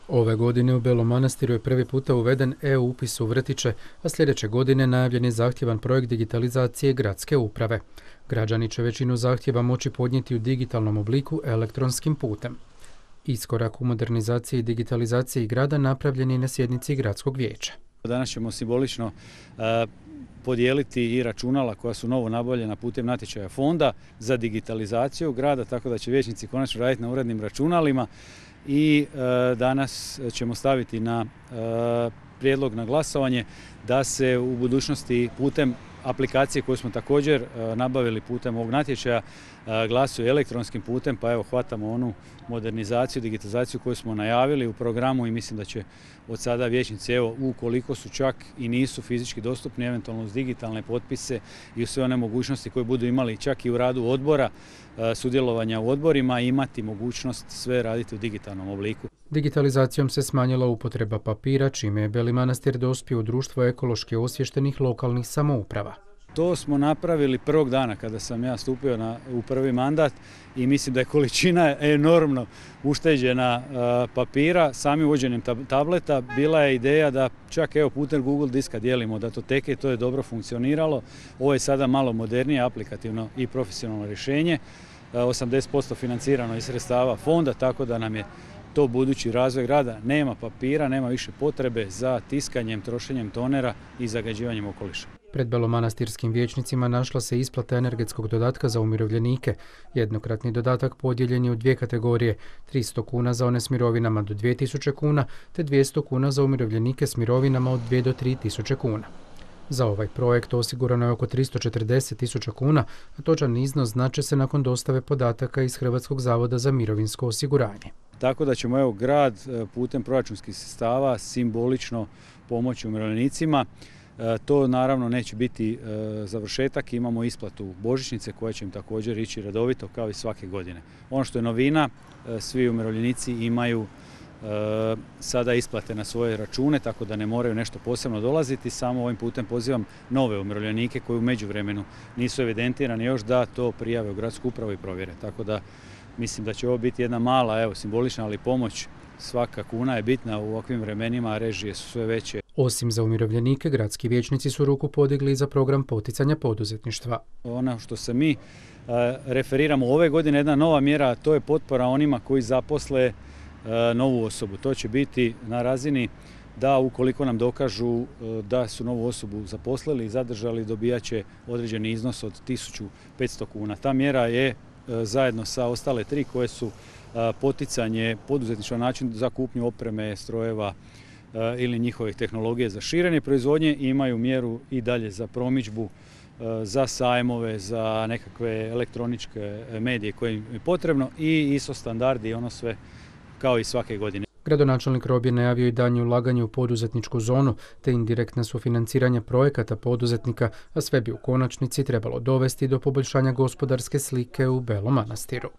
Ove godine u Belom Manastiru je prvi puta uveden e-upis u vrtiće, a sljedeće godine najavljen je zahtjevan projekt digitalizacije gradske uprave. Građani će većinu zahtjeva moći podnijeti u digitalnom obliku elektronskim putem. Iskorak u modernizaciji i digitalizaciji grada napravljen je na sjednici gradskog vijeća. Danas ćemo simbolično podijeliti i računala koja su novo nabavljena putem natječaja fonda za digitalizaciju grada, tako da će vijećnici konačno raditi na urednim računalima i danas ćemo staviti na prijedlog na glasovanje da se u budućnosti putem aplikacije koju smo također nabavili putem ovog natječaja glasuje elektronskim putem, pa evo hvatamo onu modernizaciju, digitalizaciju koju smo najavili u programu i mislim da će od sada vijećnici, evo ukoliko su čak i nisu fizički dostupni, eventualno uz digitalne potpise i u sve one mogućnosti koje budu imali čak i u radu odbora, sudjelovanja u odborima, imati mogućnost sve raditi u digitalnom obliku. Digitalizacijom se smanjila upotreba papira, čime je Beli Manastir dospio u društvo ekološki osviještenih lokalnih samouprava. To smo napravili prvog dana kada sam ja stupio u prvi mandat i mislim da je količina enormno ušteđena papira. Sami uvođenjem tableta bila je ideja da čak evo putem Google diska dijelimo datoteke i to je dobro funkcioniralo. Ovo je sada malo modernije, aplikativno i profesionalno rješenje. 80% financirano iz sredstava fonda, tako da nam je to budući razvoj grada. Nema papira, nema više potrebe za tiskanjem, trošenjem tonera i zagađivanjem okoliša. Pred belomanastirskim vijećnicima našla se isplata energetskog dodatka za umirovljenike. Jednokratni dodatak podijeljen je u dvije kategorije, 300 kuna za one s mirovinama do 2000 kuna, te 200 kuna za umirovljenike s mirovinama od 2 do 3000 kuna. Za ovaj projekt osigurano je oko 340.000 kuna, a točan iznos znače se nakon dostave podataka iz Hrvatskog zavoda za mirovinsko osiguranje. Tako da ćemo grad putem proračunskih sredstava simbolično pomoći umirovljenicima. To naravno neće biti završetak, imamo isplatu božićnice koja će im također ići redovito kao i svake godine. Ono što je novina, svi umirovljenici imaju sada isplate na svoje račune, tako da ne moraju nešto posebno dolaziti. Samo ovim putem pozivam nove umirovljenike koji u međuvremenu nisu evidentirani još da to prijave u gradsku upravu i provjere. Tako da mislim da će ovo biti jedna mala, simbolična, ali pomoć. Svaka kuna je bitna u ovakvim vremenima, a režije su sve veće. Osim za umirovljenike, gradski vijećnici su ruku podigli za program poticanja poduzetništva. Ono što se mi referiramo ove godine, jedna nova mjera, to je potpora onima koji zaposle novu osobu. To će biti na razini da ukoliko nam dokažu da su novu osobu zaposlili i zadržali, dobijat će određeni iznos od 1500 kuna. Ta mjera je zajedno sa ostale tri koje su poticanje poduzetništva na način za kupnju opreme, strojeva ili njihovih tehnologije za širenje proizvodnje, imaju mjeru i dalje za promidžbu, za sajmove, za nekakve elektroničke medije koje im je potrebno i ISO standardi i ono sve kao i svake godine. Gradonačelnik Rob je najavio i daljnje ulaganje u poduzetničku zonu te indirektna sufinanciranja projekata poduzetnika, a sve bi u konačnici trebalo dovesti do poboljšanja gospodarske slike u Belom Manastiru.